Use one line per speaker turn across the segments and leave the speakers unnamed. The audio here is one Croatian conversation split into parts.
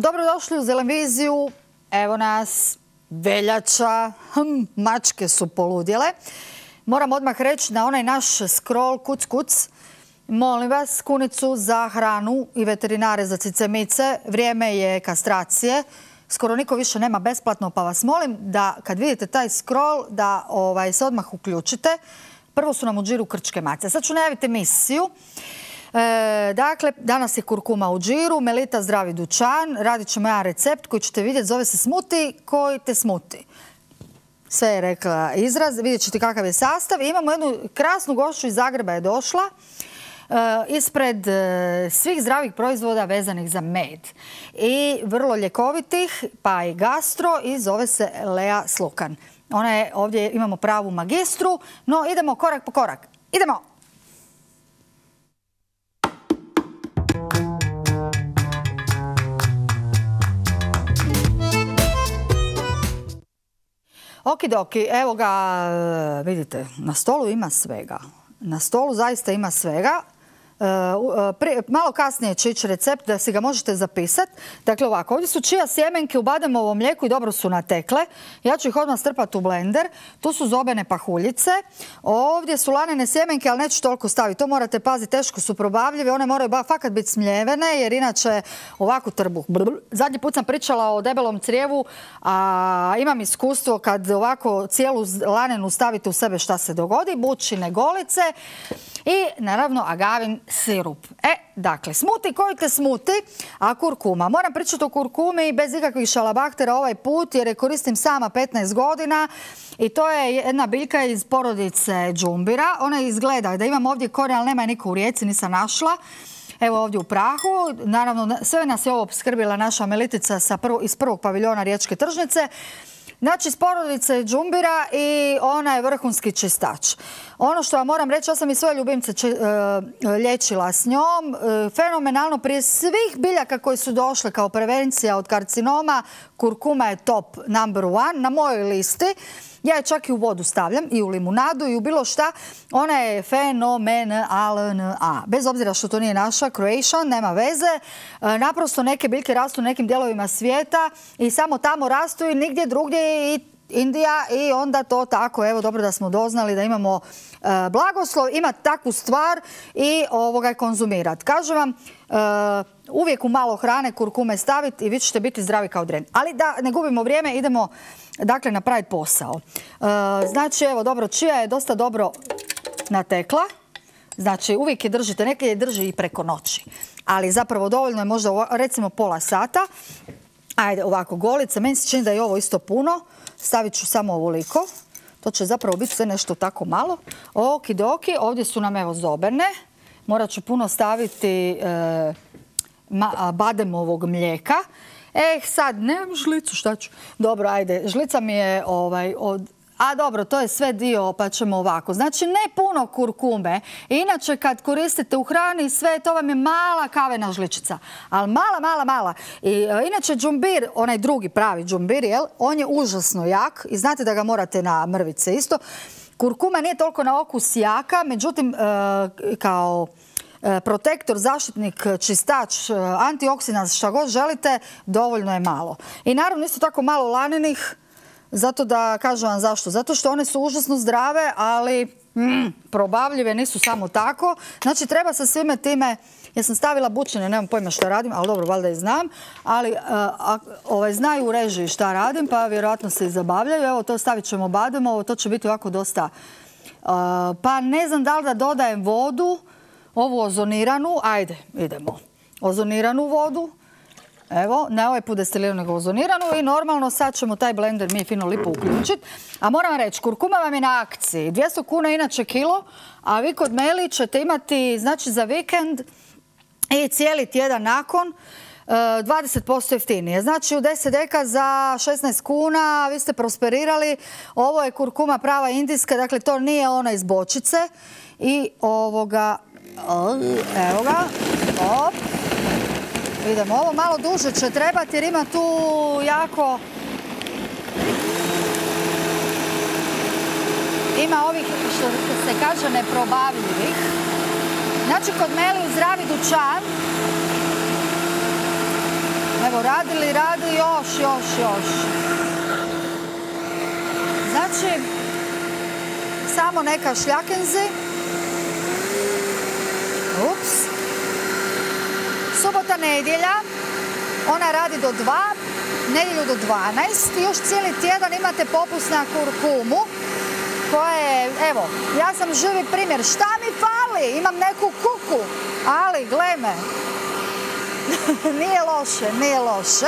Dobrodošli u Zelenviziju. Evo nas, veljača, mačke su poludjele. Moram odmah reći na onaj naš scroll kuc. Molim vas, kunicu za hranu i veterinare za cicemice. Vrijeme je kastracije. Skoro niko više nema besplatno, pa vas molim da kad vidite taj scroll da se odmah uključite. Prvo su nam u džiru krčke mace. Sad ću najaviti emisiju. Dakle, danas je kurkuma u džiru, Melita zdravi dućan. Radit ćemo jedan recept koji ćete vidjeti, zove se smuti koji te smuti. Sve je rekla izraz, vidjet ćete kakav je sastav. Imamo jednu krasnu gošću iz Zagreba je došla. Ispred svih zdravih proizvoda vezanih za med i vrlo ljekovitih, pa i gastro, i zove se Lea Slukan. Ona je, ovdje imamo pravu magistru, no idemo korak po korak. Idemo! Okidoki, evo ga, vidite, na stolu ima svega. Na stolu zaista ima svega. Malo kasnije će ići recept da si ga možete zapisati. Dakle ovako, ovdje su čija sjemenke u bademovom mlijeku i dobro su natekle. Ja ću ih odmah strpati u blender. Tu su zobene pahuljice. Ovdje su lanene sjemenke, ali neću toliko staviti. To morate paziti, teško su probavljive. One moraju fakat biti smljevene jer inače ovako trbuh. Zadnji put sam pričala o debelom crijevu, a imam iskustvo kad ovako cijelu lanenu stavite u sebe šta se dogodi. Bučine golice i naravno agavin sirup. Dakle, smuti koji te smuti, a kurkuma. Moram pričati o kurkumi bez ikakvih šalabahtera ovaj put jer je koristim sama 15 godina i to je jedna biljka iz porodice džumbira. Ona izgleda da imam ovdje korijen, ali nema je niko u Rijeci, nisam našla. Evo ovdje u prahu. Naravno, sve nas je ovo opskrbila naša Melitica iz prvog paviljona Riječke tržnice. Znači, iz porodice džumbira i ona je vrhunski čistač. Ono što vam moram reći, ja sam i svoje ljubimce liječila s njom. Fenomenalno, prije svih biljaka koji su došle kao prevencija od karcinoma, kurkuma je top number one na mojoj listi. Ja je čak i u vodu stavljam, i u limunadu, i u bilo šta. Ona je fenomenalna. Bez obzira što to nije naša, Croatian, nema veze. Naprosto neke biljke rastu u nekim dijelovima svijeta i samo tamo rastu i nigdje drugdje, i Indija, i onda to tako, evo dobro da smo doznali da imamo blagoslov, imati takvu stvar i konzumirati. Kažem vam, uvijek u malo hrane kurkume staviti i vi ćete biti zdravi kao dren. Ali da ne gubimo vrijeme, idemo dakle napraviti posao. Znači, evo dobro, čija je dosta dobro natekla. Znači, uvijek je držite, neke je drži i preko noći. Ali zapravo dovoljno je možda recimo pola sata. Ajde, ovako, golice. Meni se čini da je ovo isto puno. Stavit ću samo ovoliko. To će zapravo biti sve nešto tako malo. Okidoki, ovdje su nam evo zobene. Morat ću puno staviti bademovog mlijeka. Sad, nemam žlicu, šta ću? Dobro, ajde, žlica mi je dobro, to je sve dio, pa ćemo ovako. Znači, ne puno kurkume. Inače, kad koristite u hrani sve, to vam je mala kavena žličica. Ali mala. Inače, džumbir, onaj drugi pravi džumbir, on je užasno jak i znate da ga morate na mrvice isto. Kurkuma nije toliko na okus jaka, međutim, kao protektor, zaštitnik, čistač, antioksidans, šta god želite, dovoljno je malo. I naravno isto tako malo lanenih, zato da kažem vam zašto. Zato što one su užasno zdrave, ali probavljive nisu samo tako. Znači treba sa svime time, ja sam stavila bučine, nemam pojma šta radim, ali dobro, valjda i znam, ali znaju u režiji šta radim, pa vjerojatno se i zabavljaju. Evo to stavit ćemo bademovo, to će biti ovako dosta, pa ne znam da li da dodajem vodu, ovu ozoniranu, ajde, idemo. Ozoniranu vodu, evo, ne ovaj put destiliranu nego ozoniranu i normalno sad ćemo taj blender mi fino lipo uključiti. A moram reći, kurkuma vam je na akciji, 200 kuna inače kilo, a vi kod Meli ćete imati, znači za vikend i cijeli tjedan nakon, 20% jeftinije. Znači u 10 deka za 16 kuna vi ste prosperirali. Ovo je kurkuma prava indijska, dakle to nije ona iz bočice. I evo ga, op. Idemo, ovo malo duže će trebati jer ima tu jako... Ima ovih, što se kaže, neprobavljivih. Znači, kod Meli u zdravi dućan Evo, radi još. Znači, samo neka šljakenzi. Ups. Subota, nedjelja. Ona radi do 2, nedjelju do 12 i još cijeli tjedan imate popust na kurkumu koja je, evo, ja sam živi primjer. Šta mi fali? Imam neku kuku, ali gle me. Nije loše.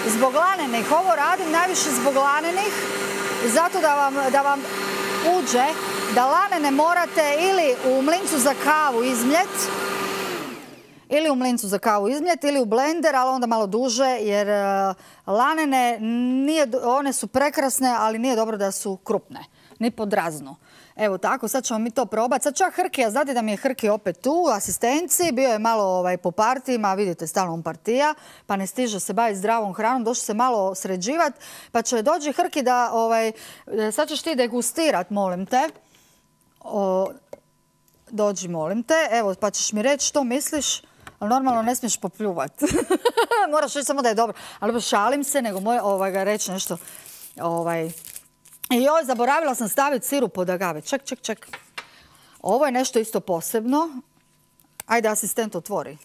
Zbog lanenih, ovo radim najviše zbog lanenih, zato da vam uđe da lanene morate ili u mlincu za kavu izmljeti, ili u blender, ali onda malo duže, jer lanene, one su prekrasne, ali nije dobro da su krupne, ni pod razno. Evo tako, sad ćemo mi to probati. Sad čak Hrki, a znate da mi je Hrki opet tu u asistenciji, bio je malo po partijima, vidite, stalno on partija, pa ne stiže se baviti zdravom hranom, došli se malo sređivati, pa će dođi Hrki da, sad ćeš ti degustirat, molim te. Dođi, molim te, evo, pa ćeš mi reći što misliš, ali normalno ne smiješ popljuvati. Moraš reći samo da je dobro, ali šalim se, nego ga reći nešto, I joj, zaboravila sam staviti sirup od agave. Ček. Ovo je nešto isto posebno. Ajde, asistent otvori.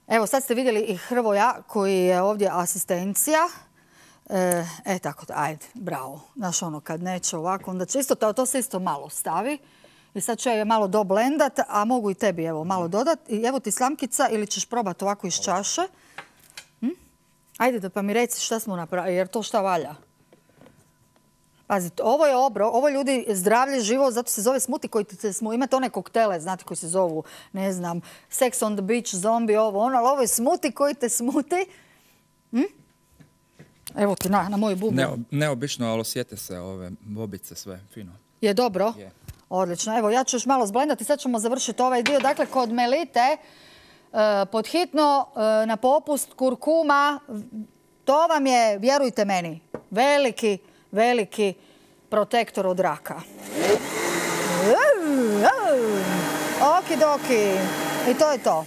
Evo, sad ste vidjeli i Hrvoja koji je ovdje asistencija. Tako, ajde, bravo. Znaš ono, kad neće ovako, onda će isto, to se isto malo stavi. I sad ću je malo doblendat, a mogu i tebi evo malo dodati. I evo ti slamkica ili ćeš probati ovako iz čaše. Ajde, pa mi reci šta smo napravili, jer to šta valja. Pazite, ovo je ovo ljudi zdravlje živo, zato se zove smuti koji imate one koktele, znate koji se zovu, ne znam, Sex on the Beach, zombie, ovo, ono, ali ovo je smuti koji te smuti. Evo ti na moju bubu.
Neobično, ali osjete se ove bobice sve, fino.
Je dobro?
Je.
Odlično. Evo, ja ću još malo zblendati, sad ćemo završiti ovaj dio. Dakle, kod Melite, podhitno na popust kurkuma, to vam je, vjerujte meni, veliki protektor od raka. Okidoki. I to je to.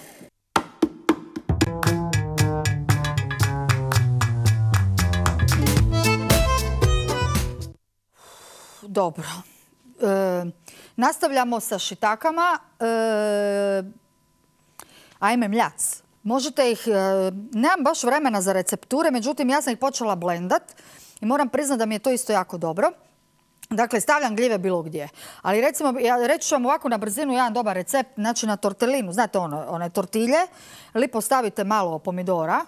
Dobro. Nastavljamo sa šitakama. Ajme mljac. Možete ih, nemam baš vremena za recepture, međutim ja sam ih počela blendat i moram priznati da mi je to isto jako dobro. Dakle, stavljam gljive bilo gdje. Ali recimo, ja reći ću vam ovako na brzinu jedan dobar recept, znači na tortelinu, znate one tortilje, lipo stavite malo pomidora,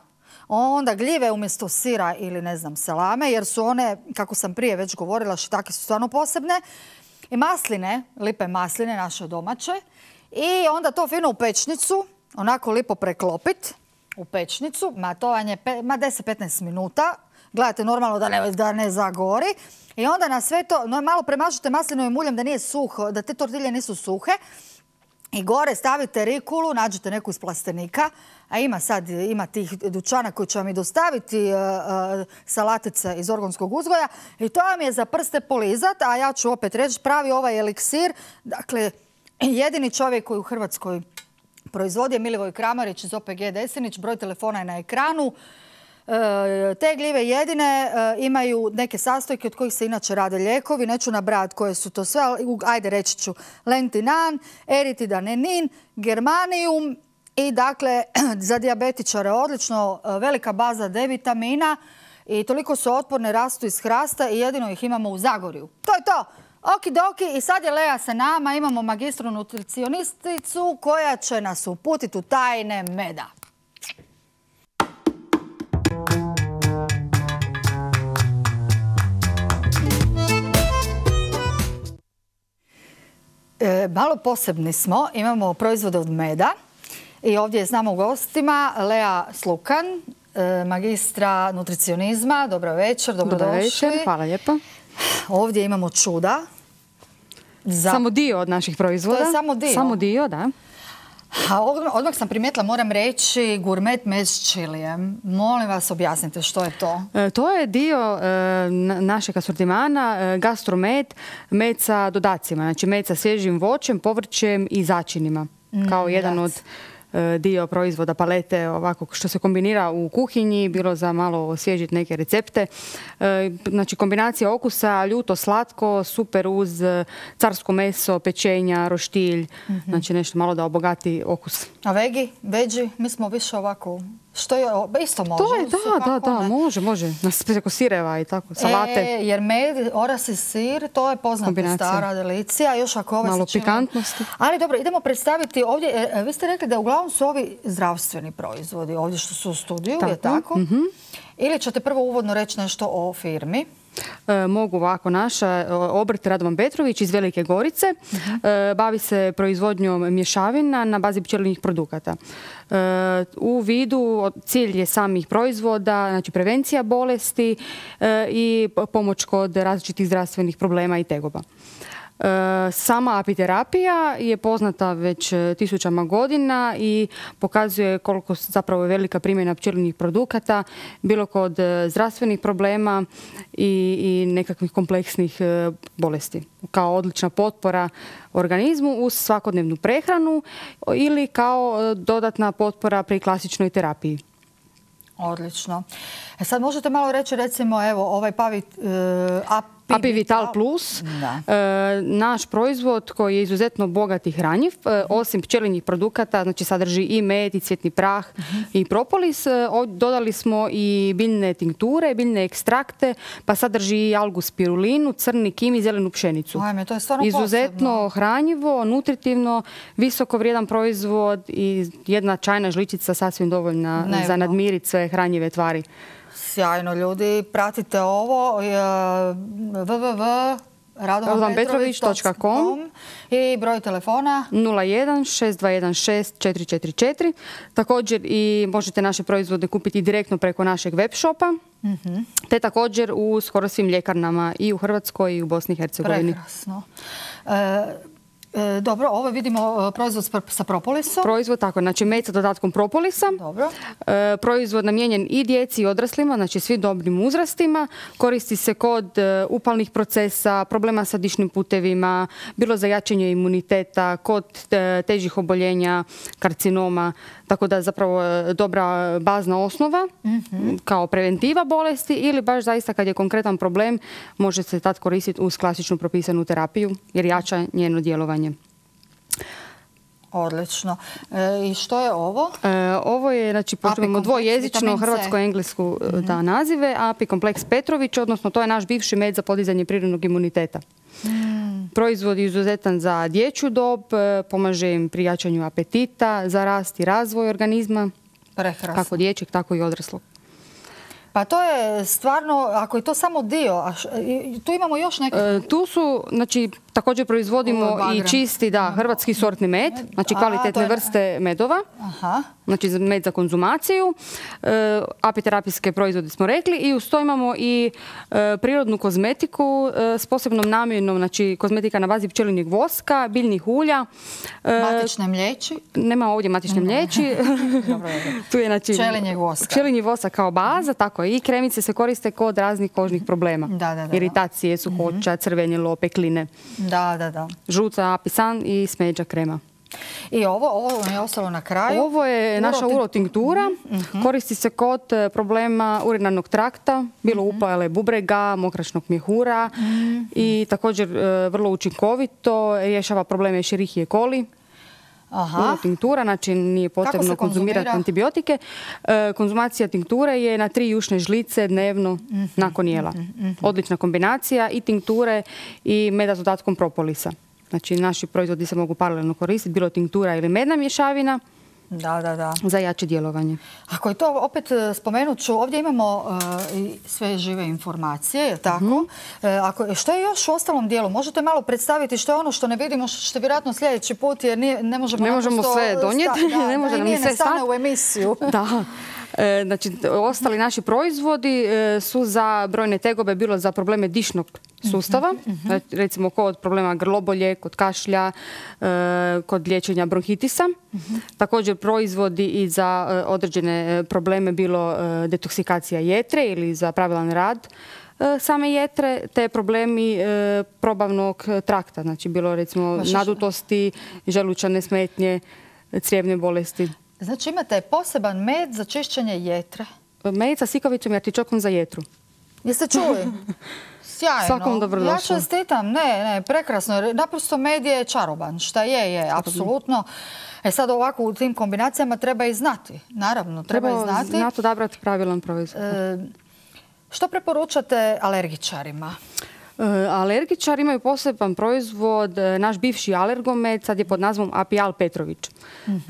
onda gljive umjesto sira ili ne znam salame, jer su one, kako sam prije već govorila, šitake su stvarno posebne. I masline, lipe masline, naše domaće. I onda to fino u pečnicu, onako lipo preklopit u pečnicu. To vam je 10-15 minuta. Gledajte normalno da ne zagori. I onda na sve to malo premažite maslinovim uljem da nije suho, da te tortilje nisu suhe. I gore stavite rikulu, nađete neku iz plastenika, a ima tih dućana koji će vam i dostaviti salatice iz organskog uzgoja i to vam je za prste polizat, a ja ću opet reći pravi ovaj eliksir. Dakle, jedini čovjek koji u Hrvatskoj proizvodi je Milivoj Kramarić iz OPG Desinić, broj telefona je na ekranu. Te gljive jedine imaju neke sastojke od kojih se inače rade lijekovi. Neću nabrajati koje su to sve, ali ajde reći ću lentinan, eritidanenin, germanium i dakle za dijabetičare odlično, velika baza D vitamina i toliko su otporne, rastu iz hrasta i jedino ih imamo u Zagorju. To je to! Okidoki, i sad je Lea sa nama, imamo magistru nutricionisticu koja će nas uputiti u tajne meda. Malo posebni smo, imamo proizvode od meda i ovdje znamo u gostima Lea Slukan, magistra nutricionizma. Dobro večer, dobrodošli.
Dobro večer, hvala lijepo.
Ovdje imamo čuda.
Samo dio od naših proizvoda.
To je samo dio?
Samo dio, da.
Odmah sam primijetila, moram reći, gurmet med s čilijem. Molim vas, objasnite što je to.
To je dio našeg asortimana, gastromed, med sa dodacima. Znači med sa svježim voćem, povrćem i začinima. Kao jedan od dio proizvoda palete ovako što se kombinira u kuhinji, bilo za malo osvježiti neke recepte. Znači kombinacija okusa, ljuto, slatko, super uz carsko meso, pečenja, roštilj, znači nešto malo da obogati okus.
A veđi, mi smo više ovako, što je, isto može.
To je, može. Preko sireva i tako, salate.
Jer med, orasi sir, to je poznata stara delicija, još ako ove
malo pikantnosti.
Ali dobro, idemo predstaviti ovdje, vi ste rekli da uglavnom su ovi zdravstveni proizvodi, ovdje što su u studiju, je tako? Ili ćete prvo uvodno reći nešto o firmi?
Mogu ovako. Naša obrt Radovan Petrović iz Velike Gorice bavi se proizvodnjom mješavina na bazi pčelinjih produkata. U vidu cilj je samih proizvoda, znači prevencija bolesti i pomoć kod različitih zdravstvenih problema i tegoba. Sama apiterapija je poznata već tisućama godina i pokazuje koliko zapravo je velika primjena pčelinjih produkata, bilo kod zdravstvenih problema i nekakvih kompleksnih bolesti. Kao odlična potpora organizmu uz svakodnevnu prehranu ili kao dodatna potpora pri klasičnoj terapiji.
Odlično. Sad možete malo reći, recimo, evo, ovaj
Apivital Plus, naš proizvod koji je izuzetno bogat i hranjiv, osim pčelinjih produkata, znači sadrži i med, i cvjetni prah, i propolis. Dodali smo i biljne tinkture, biljne ekstrakte, pa sadrži i algu spirulinu, crni kim i zelenu pšenicu.
Ajme, to je stvarno
izuzetno hranjivo, nutritivno, visoko vrijedan proizvod i jedna čajna žličica sasvim dovoljna za nadmiriti sve hranjive tvari.
Sjajno, ljudi, pratite ovo www.radovanpetrović.com i broj telefona
01 6216 444. Također i možete naše proizvode kupiti direktno preko našeg web shopa, te također u skoro svim ljekarnama i u Hrvatskoj i u Bosni i Hercegovini.
Prekrasno. Dobro, ovo vidimo proizvod sa propolisom.
Proizvod, tako, znači med sa dodatkom propolisa.
Dobro.
Proizvod namijenjen i djeci i odraslima, znači svi dobrim uzrastima. Koristi se kod upalnih procesa, problema sa dišnim putevima, bilo za jačanje imuniteta, kod težih oboljenja, karcinoma. Tako da je zapravo dobra bazna osnova kao preventiva bolesti ili baš zaista kad je konkretan problem može se tad koristiti uz klasičnu propisanu terapiju jer jača njeno djelovanje.
Odlično. I što je ovo?
Ovo je, znači, pošto dvojezično hrvatsko-englesku nazive, Apikompleks Petrović, odnosno to je naš bivši med za podizanje prirodnog imuniteta. Proizvod je izuzetan za dječju dob, pomaže im pri jačanju apetita, za rast i razvoj organizma, kako dječjeg, tako i odraslog.
Pa to je stvarno, ako je to samo dio, tu imamo još neke...
Tu su, znači, također proizvodimo i čisti, hrvatski sortni med, znači kvalitetne vrste medova, znači med za konzumaciju, apiterapijske proizvode smo rekli i uz to imamo i prirodnu kozmetiku s posebnom namjenom, znači kozmetika na bazi pčelinjeg voska, biljnih ulja.
Matične mliječi?
Nema ovdje matične mliječi. Tu je, znači,
pčelinjeg voska.
Pčelinji vosak kao baza, tako i kremice se koriste kod raznih kožnih problema. Iritacije, suhoća, crvenilo, pekline. Žuta apisan i smeđa krema.
I ovo je ostalo na kraju?
Ovo je naša urotinktura. Koristi se kod problema urinarnog trakta, bilo upale bubrega, mokračnog mjehura i također vrlo učinkovito rješava probleme Escherichia coli. Tinktura, znači nije potrebno konzumirati antibiotike. Konzumacija tinkture je na 3 jušne žlice dnevno nakon jela. Odlična kombinacija i tinkture i meda s dodatkom propolisa. Znači naši proizvodi se mogu paralelno koristiti, bilo tinktura ili medna mješavina. Za jače djelovanje.
Ako je to, opet spomenut ću, ovdje imamo sve žive informacije, je tako? Što je još u ostalom dijelu? Možete malo predstaviti što je ono što ne vidimo, što ćete vjerojatno sljedeći put, jer ne možemo
sve donijeti.
Ne može nam sve stane u emisiju.
Da. Znači, ostali naši proizvodi su za brojne tegobe, bilo za probleme dišnog sustava, recimo kod problema grlobolje, kod kašlja, kod liječenja bronhitisa. Također proizvodi i za određene probleme, bilo detoksikacija jetre ili za pravilan rad same jetre, te problemi probavnog trakta, znači bilo recimo nadutosti, želučane smetnje, crijevne bolesti.
Znači imate poseban med za čišćenje jetre.
Med sa sikavicom i artičokom za jetru.
Jeste čuli? Sjajno.
Svakom dobrodošlo.
Ja čestitam. Ne, prekrasno. Naprosto med je čaroban. Šta je, apsolutno. Sad ovako u tim kombinacijama treba i znati. Naravno, treba i znati.
Treba znati odabrati pravilan proizvod.
Što preporučate alergičarima?
Alergičari imaju poseban proizvod, naš bivši alergomed, sad je pod nazvom Apial Petrović.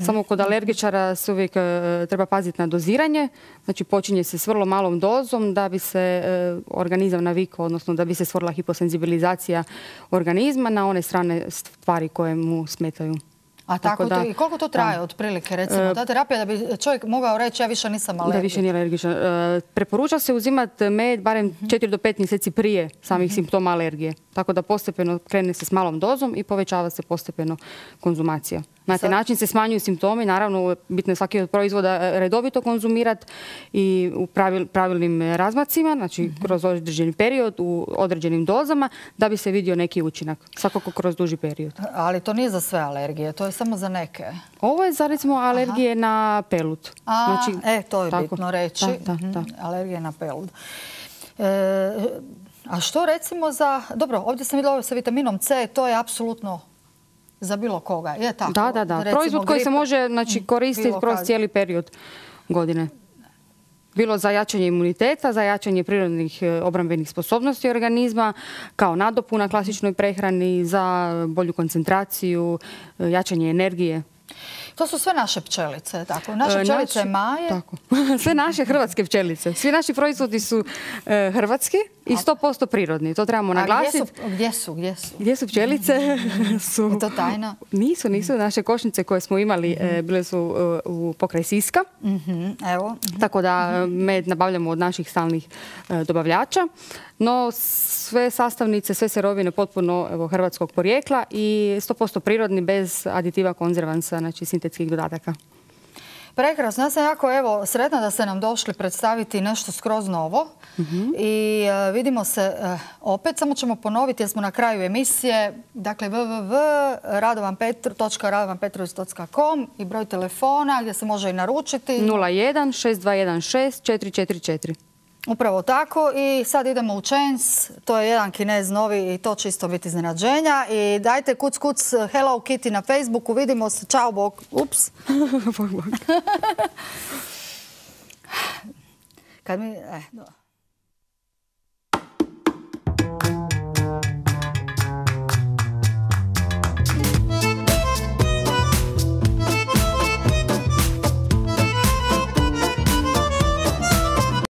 Samo kod alergičara se uvijek treba paziti na doziranje, znači počinje se s vrlo malom dozom da bi se organizam navikao, odnosno da bi se stvorila hiposenzibilizacija organizma na one strane stvari koje mu smetaju.
A tako da, i koliko to traje otprilike, recimo, ta terapija da bi čovjek mogao reći ja više nisam alergičan?
Da više nije alergičan. Preporuča se uzimati med barem 4 do 5 mjeseci prije samih simptoma alergije. Tako da postepeno krene se s malom dozom i povećava se postepeno konzumacija. Na taj način se smanjuju simptomi, naravno bitno je svaki od proizvoda redovito konzumirati i u pravilnim razmacima, znači kroz određeni period, u određenim dozama, da bi se vidio neki učinak, svakako kroz duži period.
Ali to nije za sve alergije, to je samo za neke?
Ovo je za recimo alergije na pelut.
To je bitno reći. Alergije na pelut. A što recimo za... Dobro, ovdje sam vidjela sa vitaminom C, to je apsolutno za bilo koga. Je tako?
Da. Proizvod koji se može koristiti kroz cijeli period godine. Bilo za jačanje imuniteta, za jačanje prirodnih obrambenih sposobnosti organizma, kao nadopuna klasičnoj prehrani, za bolju koncentraciju, jačanje energije.
To su sve naše pčelice, tako? Naše pčelice Maje?
Tako. Sve naše hrvatske pčelice. Svi naši proizvodi su hrvatski i 100% prirodni. To trebamo naglasiti.
A gdje su?
Gdje su pčelice?
Je to tajna?
Nisu. Naše košnice koje smo imali bile su pokraj Siska.
Evo.
Tako da med nabavljamo od naših stalnih dobavljača. No sve sastavnice, sve sirovine potpuno hrvatskog porijekla i 100% prirodni bez aditiva, konzervansa, znači sintetskih dodataka.
Prekrasno. Ja sam jako sretna da ste nam došli predstaviti nešto skroz novo. I vidimo se opet. Samo ćemo ponoviti jer smo na kraju emisije. Dakle, www.radovanpetrović.com i broj telefona gdje se može i naručiti.
01 6216 444.
Upravo tako. I sad idemo u Chains. To je jedan Kinez novi i to će isto biti iznenađenja. I dajte kuc Hello Kitty na Facebooku. Vidimo se. Ćao, bok. Ups.
Bok.
Kad mi...